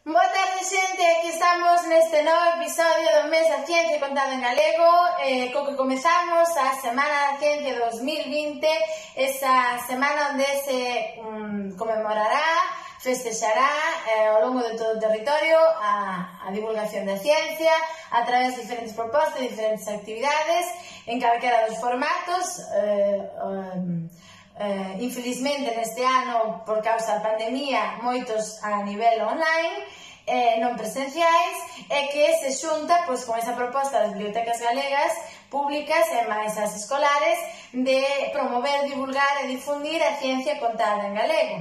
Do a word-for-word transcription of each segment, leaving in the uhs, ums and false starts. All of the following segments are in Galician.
Boa tarde, xente, aquí estamos neste novo episodio do mes da Ciencia contada en galego, eh, co que comezamos a Semana da Ciencia dos mil vinte, esa semana onde se um, conmemorará, festexará eh, ao longo de todo o territorio a, a divulgación da ciencia a través de diferentes propostas, diferentes actividades, en calquera dos formatos. eh, um, Uh, infelizmente neste ano, por causa da pandemia, moitos a nivel online, eh, non presenciais, e que se xunta pois, con esa proposta das bibliotecas galegas públicas e máis as escolares de promover, divulgar e difundir a ciencia contada en galego.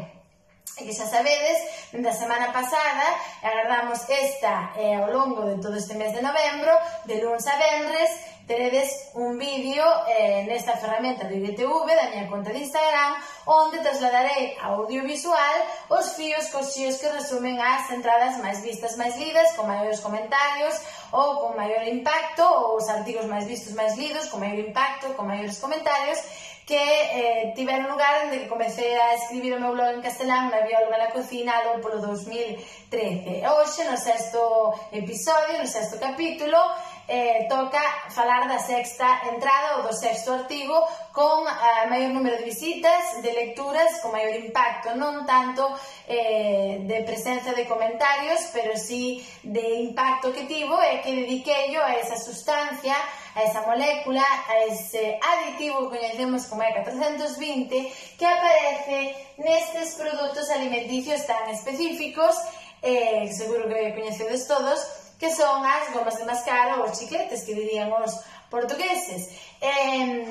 E que xa sabedes, da semana pasada, agardamos esta eh, ao longo de todo este mes de novembro, de luns a venres, teredes un vídeo eh, nesta ferramenta do I G T V da miña conta de Instagram, onde trasladarei audiovisual os fíos cos xíos que resumen as entradas máis vistas, máis lidas, con maiores comentarios ou con maior impacto, ou os artigos máis vistos, máis lidos, con maior impacto, con maiores comentarios, que eh, tiveron lugar onde que comecei a escribir o meu blog en castelán, na bióloga na cocina, algo polo dos mil trece. E hoxe, no sexto episodio, no sexto capítulo, eh, toca falar da sexta entrada ou do sexto artigo con a maior número de visitas, de lecturas, con maior impacto, non tanto eh, de presencia de comentarios, pero sí de impacto que tivo, e que dediquei a esa sustancia, a esa molécula, a ese aditivo que coñecemos como E catrocentos vinte, que aparece nestes produtos alimenticios tan específicos, eh, seguro que coñecedes todos, que son as gomas de mascar ou os chicletes, que dirían os portugueses. Eh,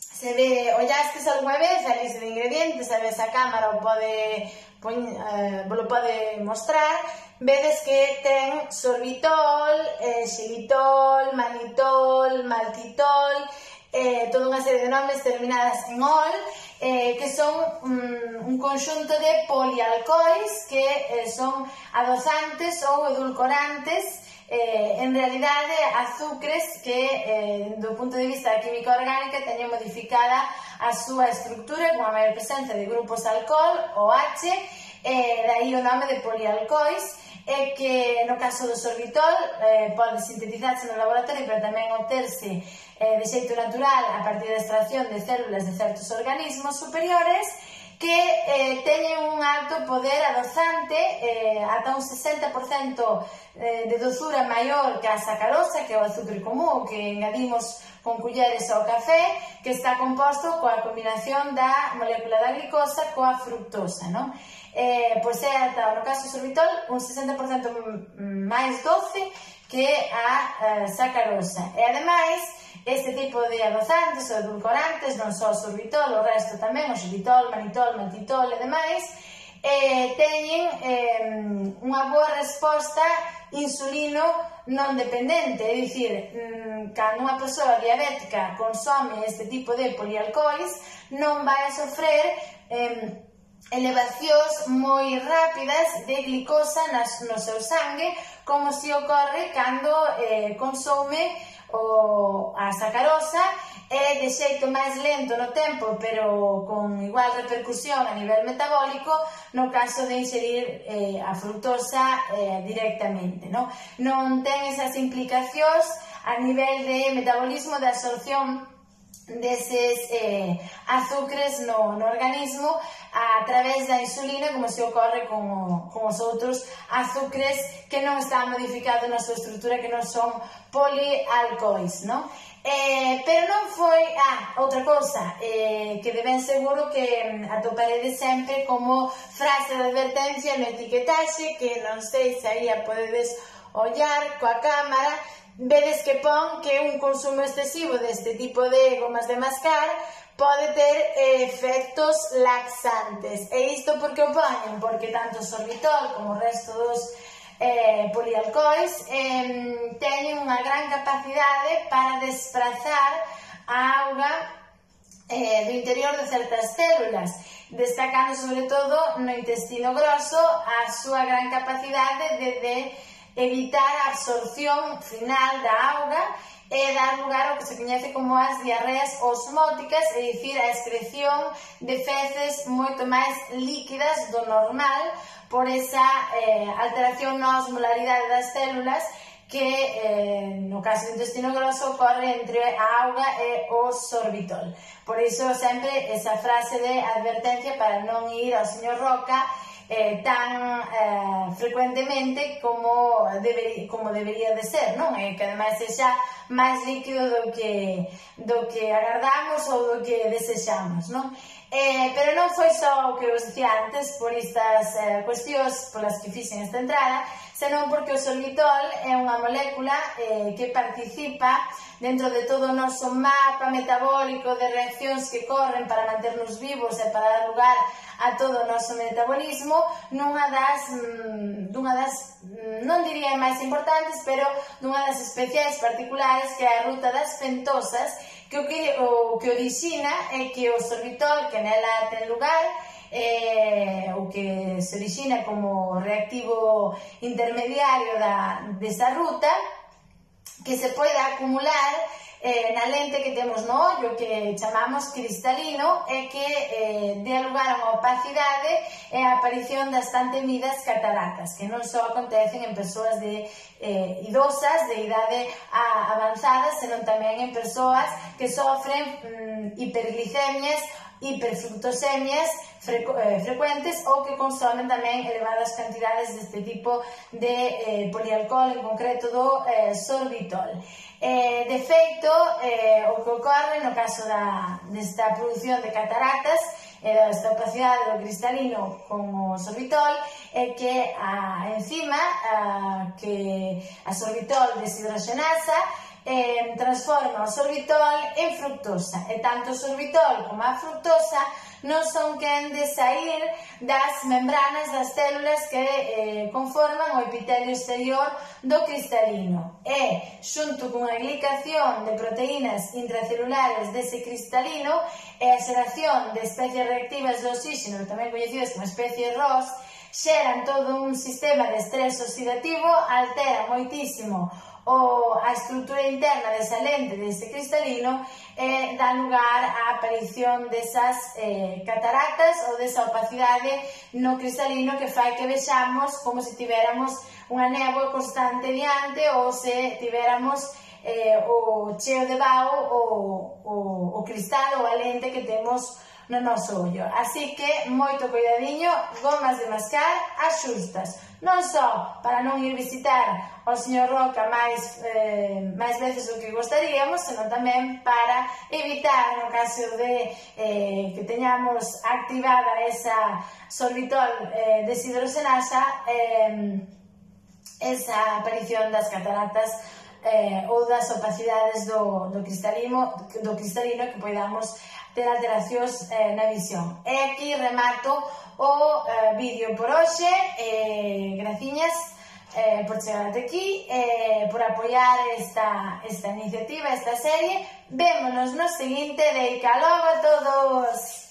se ve, ollastes algunha vez a lista de ingredientes, a vez a cámara o pode, eh, lo pode mostrar, vedes que ten sorbitol, eh, xilitol, manitol, maltitol, eh, toda unha serie de nomes terminadas en ol, eh, que son um, un conxunto de polialcohols que eh, son adoçantes ou edulcorantes, eh, en realidade azúcares que eh, do punto de vista da química orgánica teñen modificada a súa estructura con a maior presencia de grupos alcohol, o H, eh, dai o nome de polialcohols, e que no caso do sorbitol eh, pode sintetizarse no laboratorio, pero tamén obterse eh, de xeito natural a partir da extracción de células de certos organismos superiores que eh, teñen un alto poder adozante, eh, ata un sesenta por cento eh, de dozura maior que a sacarosa, que é o azúcar común, que engadimos con culleres ao café, que está composto coa combinación da molécula da glicosa coa fructosa, non? Eh, pois é, ata, no caso do sorbitol, un sesenta por cento máis doce que a eh, sacarosa. E, ademais, este tipo de adozantes ou edulcorantes, non só o sorbitol, o resto tamén, o xilitol, manitol, maltitol e demais, eh, teñen eh, unha boa resposta insulino non dependente, é dicir, mmm, cando unha persoa diabética consome este tipo de polialcohols, non vai a sofrer eh, elevacións moi rápidas de glicosa nas, no seu sangue, como se ocorre cando eh, consume o, a sacarosa, e de xeito máis lento no tempo, pero con igual repercusión a nivel metabólico no caso de inserir eh, a fructosa eh, directamente, non? Non ten esas implicacións a nivel de metabolismo, de absorción deses eh, azúcares no, no organismo a través da insulina, como se ocorre con, o, con os outros azúcares que non están modificados na súa estructura, que non son polialcohols, non? Eh, pero non foi... Ah, outra cousa, eh, que de ben seguro que atoparedes sempre como frase de advertencia no etiquetaxe, que non sei se aí a podedes ollar coa cámara, vedes que pon que un consumo excesivo deste tipo de gomas de mascar pode ter eh, efectos laxantes. E isto por que o poñen? Porque tanto o sorbitol como o resto dos eh, polialcohols eh, teñen unha gran capacidade para desprazar a auga eh, do interior de certas células, destacando sobre todo no intestino grosso a súa gran capacidade de, de evitar a absorción final da auga e dar lugar ao que se coñece como as diarreas osmóticas, é dicir, a excreción de feces moito máis líquidas do normal, por esa eh, alteración na osmolaridade das células que eh, no caso do intestino grosso ocorre entre a auga e o sorbitol. Por iso sempre esa frase de advertencia para non ir ao señor Roca eh, tan eh, frecuentemente como, debe, como debería de ser, non? E que ademais sexa máis líquido do que, do que agardamos ou do que desexamos, non? Eh, pero non foi só o que vos dicía antes por estas eh, cuestións polas que fixen esta entrada, senón porque o sorbitol é unha molécula eh, que participa dentro de todo o noso mapa metabólico de reaccións que corren para manternos vivos e para dar lugar a todo o noso metabolismo nunha das, mm, dunha das, non diría máis importantes, pero dunha das especiais particulares que é a ruta das fentosas, que o que, o que orixina é que o sorbitol que nela ten lugar, eh, o que se orixina como reactivo intermediario da, desa ruta, que se pode acumular eh, na lente que temos no ollo, que chamamos cristalino, e que eh, dé lugar a unha opacidade e a aparición das tan temidas cataratas, que non só acontecen en persoas de eh, idosas, de idade a, avanzada, senón tamén en persoas que sofren mm, hiperglicemias, hiperfructosemias frecu eh, frecuentes ou que consomen tamén elevadas cantidades deste tipo de eh, polialcohol, en concreto do eh, sorbitol. Eh, de feito, eh, o que ocorre no caso da, desta produción de cataratas e eh, desta opacidade do cristalino con o sorbitol é que a enzima a, que a sorbitol deshidroxenasa Eh, transforma o sorbitol en fructosa, e tanto o sorbitol como a fructosa non son quen de sair das membranas das células que eh, conforman o epitelio exterior do cristalino, e xunto cunha glicación de proteínas intracelulares dese cristalino e a xeración de especies reactivas de oxígeno, tamén coñecidas como especies R O S, xeran todo un sistema de estrés oxidativo, altera moitísimo o a estrutura interna desa lente dese cristalino e dá lugar á aparición desas eh, cataratas ou desa opacidade no cristalino que fai que vexamos como se tivéramos unha néboa constante diante ou se tivéramos eh, o cheo de bao o, o, o cristal ou a lente que temos no noso ollo. Así que, moito cuidadiño, gomas de mascar as xustas. Non só para non ir visitar ao señor Roca máis, eh, máis veces do que gostaríamos, senón tamén para evitar, no caso de eh, que teñamos activada esa sorbitol eh, deshidroxenasa, eh, esa aparición das cataratas eh, ou das opacidades do, do, cristalino, do cristalino que podamos ter alteracións eh, na visión. E aquí remato o eh, vídeo por hoxe. Eh, graciñas eh, por chegar até aquí, eh, por apoiar esta, esta iniciativa, esta serie. Vémonos no seguinte. Deica logo a todos!